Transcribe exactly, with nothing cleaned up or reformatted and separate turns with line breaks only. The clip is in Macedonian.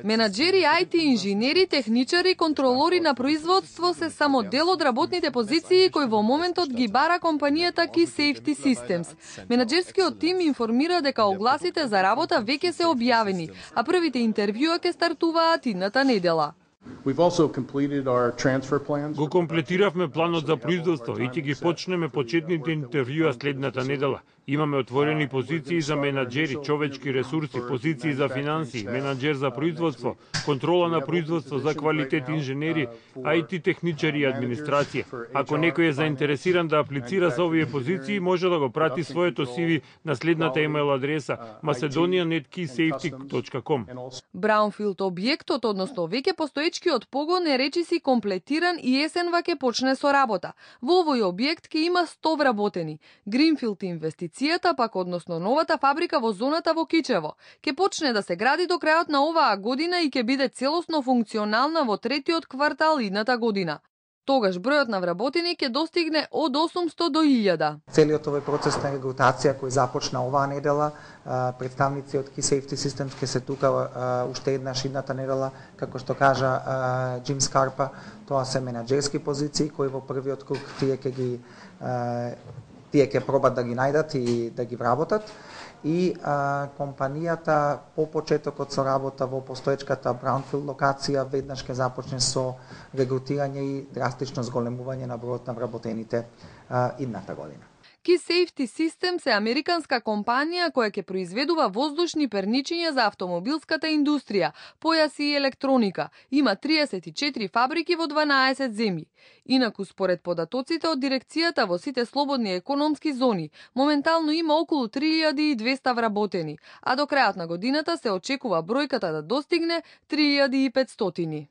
Менаџери, ај ти инженери, техничари, контролори на производство се само дел од работните позиции кои во моментот ги бара компанијата Key Safety Systems. Менаџерскиот тим информира дека огласите за работа веќе се објавени, а првите интервјуа ќе стартуваат идната недела.
Го комплетиравме планот за производство и ќе ги почнеме почетните интервјуа следната недела. Имаме отворени позиции за менаџери, човечки ресурси, позиции за финансии, менаџер за производство, контрола на производство за квалитет инженери, ај ти техничари и администрација. Ако некој е заинтересиран да аплицира за овие позиции, може да го прати своето си ви на следната имейл адреса macedonia net key safety точка com.
Браунфилд објектот, односно веќе постоечкиот погон е речиси комплетиран и есенва ќе почне со работа. Во овој објект ќе има сто вработени. Гринфилд инвестицијата пак, односно новата фабрика во зоната во Кичево, ќе почне да се гради до крајот на оваа година и ќе биде целосно функционална во третиот квартал идната година. Тогаш бројот на вработени ќе достигне од осумсто до илјада.
Целиот овој процес на регрутација кој започна оваа недела, представници од Key Safety Systems ќе се тука уште еднаш идната недела, како што кажа Джим Скарпа, тоа се менаџерски позиции кои во првиот круг тие ќе ги тие ќе пробат да ги најдат и да ги вработат. И а, компанијата по почетокот со работа во постоечката Браунфилд локација веднаш ќе започне со регрутирање и драстично зголемување на бројот на вработените а, идната година.
Key Safety Systems е американска компанија која ќе произведува воздушни перничиња за автомобилската индустрија, појаси и електроника. Има триесет и четири фабрики во дванаесет земји. Инаку, според податоците од дирекцијата во сите слободни економски зони, моментално има околу три илјади и двесте вработени, а до крајот на годината се очекува бројката да достигне три илјади и петстотини.